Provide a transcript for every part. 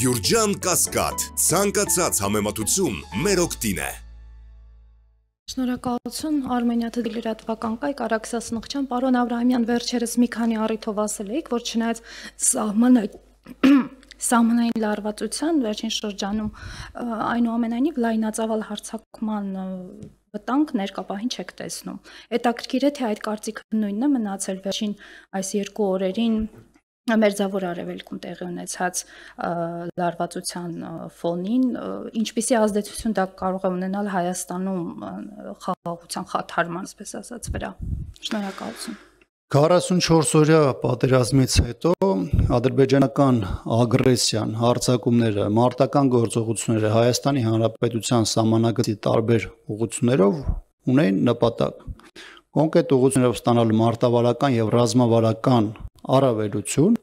Գյուրջան Կասկադ, ցանկացած համեմատություն մեր օգտին է։ Շնորհակալություն Արմենիա լրատվական կայք Արաքսասնղջան, պարոն Աբրահամյան, վերջերս մի քանի առիթով ասել եք, որ չնայած սահմանային լարվածության վերջին շրջանում այնուամենայնիվ լայնածավալ հարձակման վտանգ ներկապահին չեք տեսնում։ Հետաքրքիր է, թե այդ կարծիքը նույնն է մնացել վերջին այս 2 օրերին Մերձավոր Արևելքում տեղի ունեցած լարվածության ֆոնին, ինչպիսի ազդեցություն դա կարող է ունենալ Հայաստանում խաղաղության խաթարման, այսպես ասած, վրա։ Շնորհակալություն։ 44 օրյա պատերազմից հետո ադրբեջանական ագրեսիան, հարձակումները, մարտական գործողությունները Հայաստանի Հանրապետության սահմանագծի տարբեր ուղղություններով ունեն նպատակ կոնկրետ ուղղություններով ստանալ մարտավարական եւ ռազմավարական առավելություն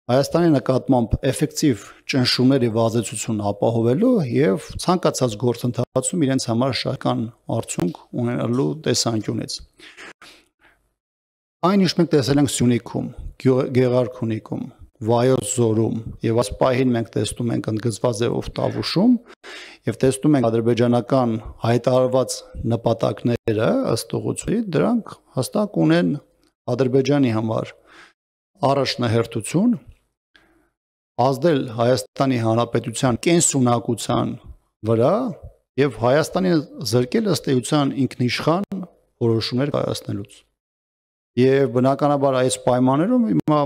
Հայաստանի նկատմամբ էֆեկտիվ ճնշումներ եւ ազդեցություն ապահովելու եւ ցանկացած գործընթացում իրենց համար շահական արդյունք ունենալու տեսանկյունից Այն ինչ մենք տեսել ենք Սյունիքում, Գեղարքունիքում, Վայոց ձորում եւ այս պահին մենք տեսնում ենք ընդգծված ձևով Տավուշում եւ տեսնում ենք ադրբեջանական հայտարարված նպատակները ըստ ուղղությունի դրանք հստակ ունեն Ադրբեջանի համար առաջնահերթություն ազդել Հայաստանի Հանրապետության կենսունակության վրա եւ Հայաստանին զրկել ըստ էության ինքնիշխան որոշումներ կայացնելուց Եվ բնականաբար այս պայմաններում հիմա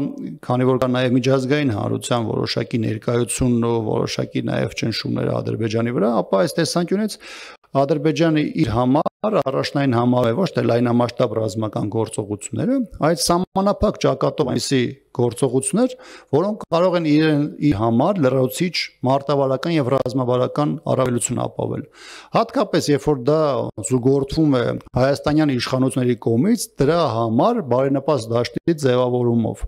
քանի որ կա նաև միջազգային հանրության որոշակի ներկայություն ու որոշակի նաև ճնշումներ Ադրբեջանի վրա, ապա այս տեսանկյունից Ադրբեջանը իր համար առաջնային համար է ոչ թե լայնամասշտաբ ռազմական գործողությունները, այլ սահմանափակ ճակատով այնպիսի գործողություններ, որոնք կարող են իր համար լրացուցիչ մարտավարական եւ ռազմավարական առավելություն ապահովել։ Հատկապես երբ որ դա զուգորդվում է հայաստանյան իշխանությունների կողմից, դրա համար բարենպաստ դաշտի ձևավորումով։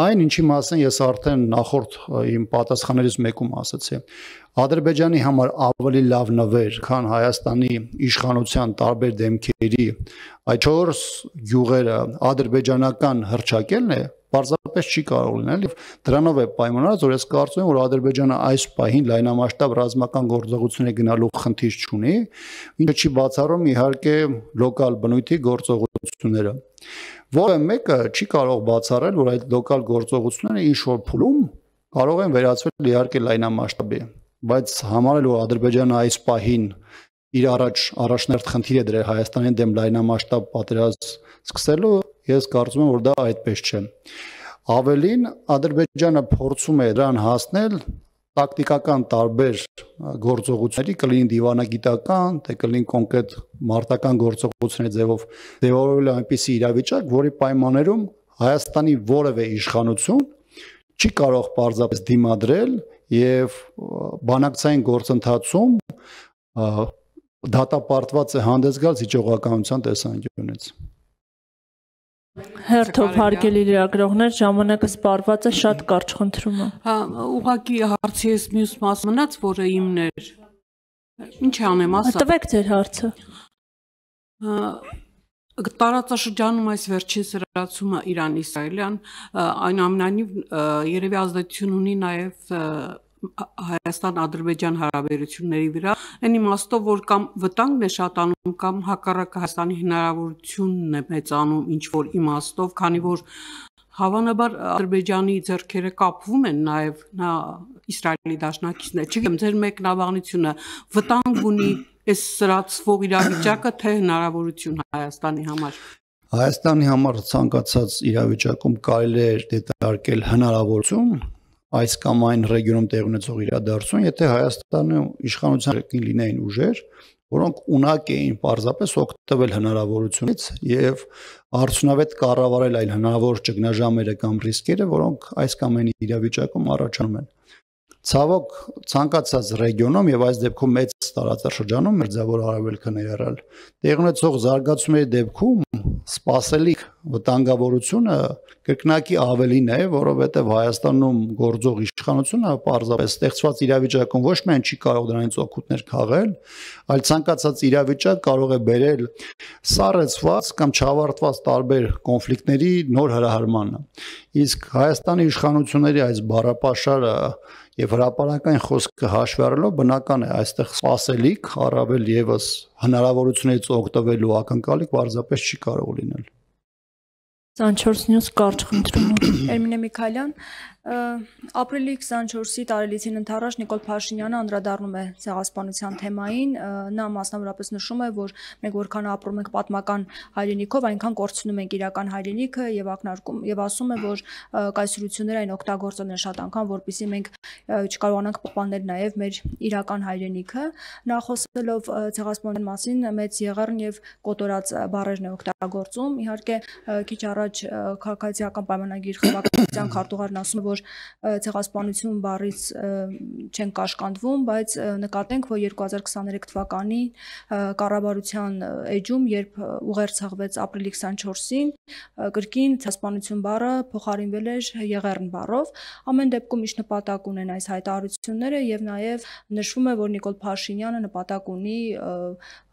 Այն ինչի մասին ես արդեն նախորդ իմ պատասխաններից մեկում ասացի։ Ադրբեջանի համար ավելի լավ նվեր, քան Հայաստանի իշխանության տարբեր դեմքերի այդ 4 գյուղերը ադրբեջանական հռչակելն է, պարզապես չի կարող լինել եւ դրանով է պայմանավորված, որ ես կարծում եմ, որ Ադրբեջանը այս պահին լայնամասշտաբ ռազմական գործողությունների գնալու խնդիր չունի, ինչը չի բացառում իհարկե լոկալ բնույթի գործողությունները։ Որը մեկը չի կարող բացառել, որ այդ լոկալ գործողությունները ինչ որ փուլում կարող են վերածվել իհարկե լայնամասշտաբի, բայց համարել որ Ադրբեջանը այս պահին իր առաջնահերթ խնդիր է դրել Հայաստանի դեմ լայնամասշտաբ պատերազմ սկսելու, ես կարծում եմ, որ դա այդպես չէ։ Ավելին Ադրբեջանը փորձում է դրան հասնել տակտիկական տարբեր գործողությունների, կլինի դիվանագիտական, թե կլինի կոնկրետ մարտական գործողությունների ձևով ձևավորել այնպիսի իրավիճակ, որի պայմաններում Հայաստանի որևէ իշխանություն չի կարող պարզապես դիմադրել եւ բանակցային գործընթացում դատապարտված է հանդես գալ զիջողականության տեսանկյունից։ Հերթով հարգելի լրագրողներ, ժամանակը սպառված է, շատ կարճ խնդրում եմ։ Հա, ուղղակի հարցի ես մյուս մաս մնաց, որը իմն էր։ Ինչ անեմ, ասա։ Տվեք ձեր հարցը։ Տարածաշրջանում այս վերջին սրացումը Իրան-Իսրայելյան այնուամենայնիվ երևի ազդեցություն ունի նաև Հայաստան-Ադրբեջան հարաբերությունների վրա, այն իմաստով, որ կամ վտանգն է շատանում, կամ հակառակը Հայաստանի հնարավորությունն է մեծանում ինչ-որ իմաստով, քանի որ հավանաբար Ադրբեջանի ձեռքերը կապվում են նաև Իսրայելի դաշնակիցներ։ Չգիտեմ, ձեր մեկնաբանությունը վտանգ ունի այս սրացվող իրավիճակը, թե հնարավորություն Հայաստանի համար։ Հայաստանի համար ցանկացած իրավիճակում կարելի է դիտարկել հնարավորություն այս կամ այն ռեգիոնում տեղի ունեցող իրադարձություն, եթե Հայաստանում իշխանության լինեին ուժեր, որոնք ունակ էին պարզապես օգտվել հնարավորությունից եւ արդյունավետ կառավարել այլ հնարավոր ճգնաժամերը կամ ռիսկերը, որոնք այս կամ այն իրավիճակում առաջանում են։ Ցավոք ցանկացած ռեգիոնում եւ այս դեպքում մեծ տարածաշրջանում Մերձավոր Արևելքը ներառյալ տեղի ունեցող զարգացումների դեպքում սպասելիք վտանգավորությունը կրկնակի ավելին է, որովհետև Հայաստանում գործող իշխանությունը պարզապես ստեղծված իրավիճակում ոչ միայն չի կարող դրանից օգուտներ քաղել, այլ ցանկացած իրավիճակ կարող է բերել սառեցված կամ չավարտված տարբեր կոնֆլիկտների նոր հրահարմանը։ Իսկ Հայաստանի իշխանությունների այս բառապաշարը Եվ հրապարակային խոսքը հաշվի առնելով բնական է այստեղ սпасելիք առավել եւս հնարավորություններից օգտվելու ակնկալիք պարզապես չի կարող լինել 24 News կարճ խնդրում Էրմինե Միքայելյան ապրիլի 24-ի տարելիցին ընթառաջ Նիկոլ Փաշինյանը անդրադառնում է ցեղասպանության թեմային նա մասնավորապես նշում է որ մենք որքան ապրում ենք պատմական հայրենիքով այնքան կորցնում ենք իրական հայրենիքը եւ ակնարկում եւ ասում է որ կայսրությունները այն օգտագործել են շատ անգամ որպեսզի մենք չկարողանանք պահպանել նաեւ մեր իրական հայրենիքը նա խոսելով ցեղասպանության մասին մեծ եղեռն եւ կոտորած բառերն է օգտագործում իհարկե քիչ առաջ քաղաքացիական պայմանագիր խմբակցության քարտուղարն ասում է որ ցեղասպանություն բառից չեն կաշկանդվում, բայց նկատենք, որ 2023 թվականի կառավարության էջում, երբ ուղերձ ապրիլի 24-ին, կրկին ցեղասպանություն բառը փոխարինվել էր եղեռն բառով։ Ամեն դեպքում ինչ նպատակ ունեն այս հայտարարությունները եւ նաեւ նշվում է, որ Նիկոլ Փաշինյանը նպատակ ունի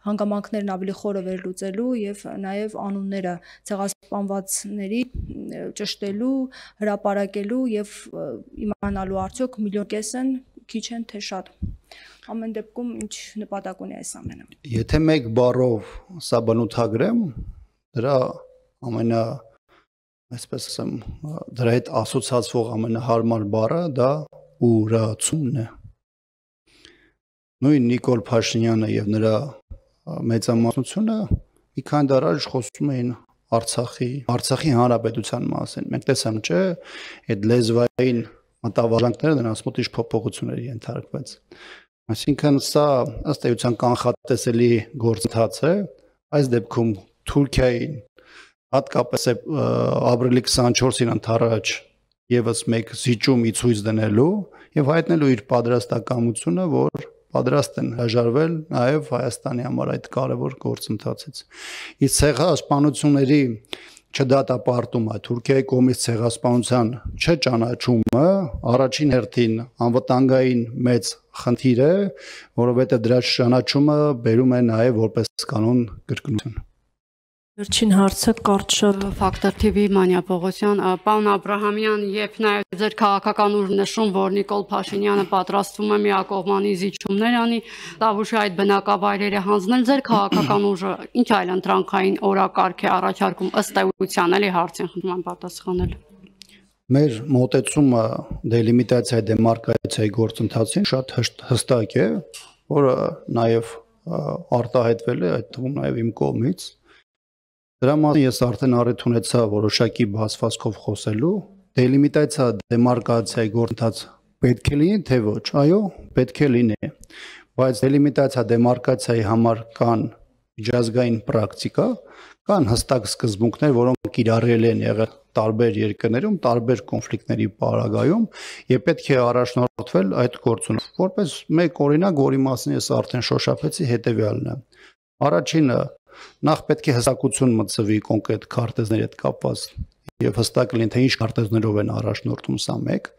հանգամանքներն ավելի խորը վերլուծելու եւ նաեւ անունները ցեղասպանվածների ճշտելու, հրապարակելու եւ իմանալու արդյոք միլիոն կես են, քիչ են թե շատ։ Ամեն դեպքում ինչ նպատակ ունի այս ամենը։ Եթե մեկ բառով սա բնութագրեմ, դրա ամենա այսպես ասեմ, դրա հետ ասոցացվող ամենահարմար բառը դա ուրացումն է։ Նույն Նիկոլ Փաշինյանը եւ նրա մեծամասնությունը մի քանի դար առաջ խոսում էին Արցախի հանրապետության մասին։ Մենք տեսամ, չէ, այդ լեզվային մտավարժանքները նրանց մոտ ինչ փոփոխությունների ենթարկվեց։ Այսինքն սա ըստ էության կանխատեսելի գործընթաց է։ Այս դեպքում Թուրքիային հատկապես ապրիլի 24-ին ընթառաջ եւս մեկ զիջում ի ցույց դնելու եւ հայտնելու իր պատրաստակամությունը, որ պատրաստ են հրաժարվել նաև Հայաստանի համար այդ կարևոր գործընթացից։ Իսկ ցեղասպանությունների չդատապարտումը, Թուրքիայի կողմից ցեղասպանության չճանաչումը առաջին հերթին անվտանգային մեծ խնդիր է, որովհետև դրա ճանաչումը բերում է նաև որպես կանոն կրկնություն։ Վերջին հարցը կարճ շատ Ֆակտոր TV Մանյա Պողոսյան, պարոն Աբրահամյան, երբ նաև ձեր քաղաքական ուժ նշում, որ Նիկոլ Փաշինյանը պատրաստվում է միակողմանի զիջումներ անի, Տավուշի այդ բնակավայրերը հանձնել, ձեր քաղաքական ուժը ինչ այլ ընտրանքային օրակարգ է առաջարկում ըստ էության, էլի հարցին խնդրում եմ պատասխանել։ Մեր մոտեցումը դելիմիտացիայի դեմարկացիայի գործընթացին շատ հստակ է, որը նաև արտահայտվել է այդ թվում նաև իմ կողմից։ Դրա մասին ես արդեն առիթ ունեցա որոշակի բացվածքով խոսելու, դելիմիտացիա դեմարկացիայի գործընթաց պետք է լինի, թե ոչ, այո, պետք է լինի, բայց դելիմիտացիա դեմարկացիայի համար կան միջազգային պրակտիկա, կան հստակ սկզբունքներ, որոնք կիրառել են եղել տարբեր երկրներում, տարբեր կոնֆլիկտների պարագայում, եւ պետք է առաջնորդվել այդ գործունեությամբ։ Որպես մեկ օրինակ, որի մասին ես արդեն շոշափեցի, հետեւյալն է։ Առաջինը նախ պետք է հստակություն մտցվի կոնկրետ քարտեզների հետ կապված եւ հստակ լինի թե ինչ քարտեզներով են առաջնորդում սա մեկ։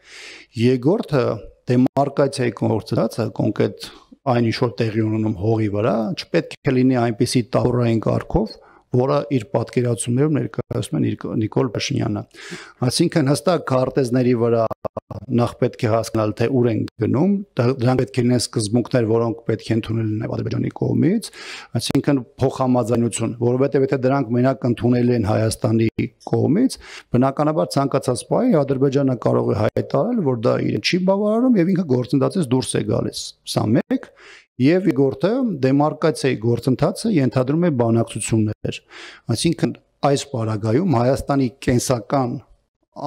Երկրորդը դեմարկացիայի գործընթացը կոնկրետ այն ինչ որ տեղի ունենում հողի վրա չպետք է լինի այնպիսի տավորային կարգով, որը իր պատկերացումներով ներկայացնում են Նիկոլ Փաշինյանը։ Այսինքն հստակ քարտեզների վրա նախ պետք է հասկանալ թե ուր են գնում, դրանք պետք է լինեն սկզբունքներ, որոնք պետք է ընդունել նաև Ադրբեջանի կողմից, այսինքն փոխհամաձայնություն, որովհետև եթե դրանք մենակ ընդունել են Հայաստանի կողմից, բնականաբար ցանկացած պահի Ադրբեջանը կարող է հայտարարել, որ դա իրեն չի բավարարում եւ ինքը գործընթացից դուրս է գալիս։ Սա մեկ Եվ երկրորդը դեմարկացիայի գործընթացը ենթադրում է բանակցություններ, այսինքն այս պարագայում Հայաստանի կենսական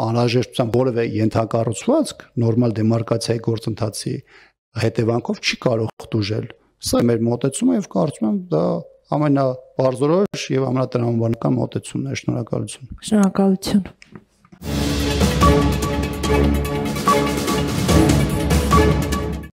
անհրաժեշտության որևէ ենթակառուցվածք նորմալ դեմարկացիայի գործընթացի հետևանքով չի կարող տուժել։ Սա մեր մոտեցումը եւ կարծում եմ դա ամենապարզորոշ եւ ամենատրամաբանական մոտեցումն է։ Շնորհակալություն։ Շնորհակալություն։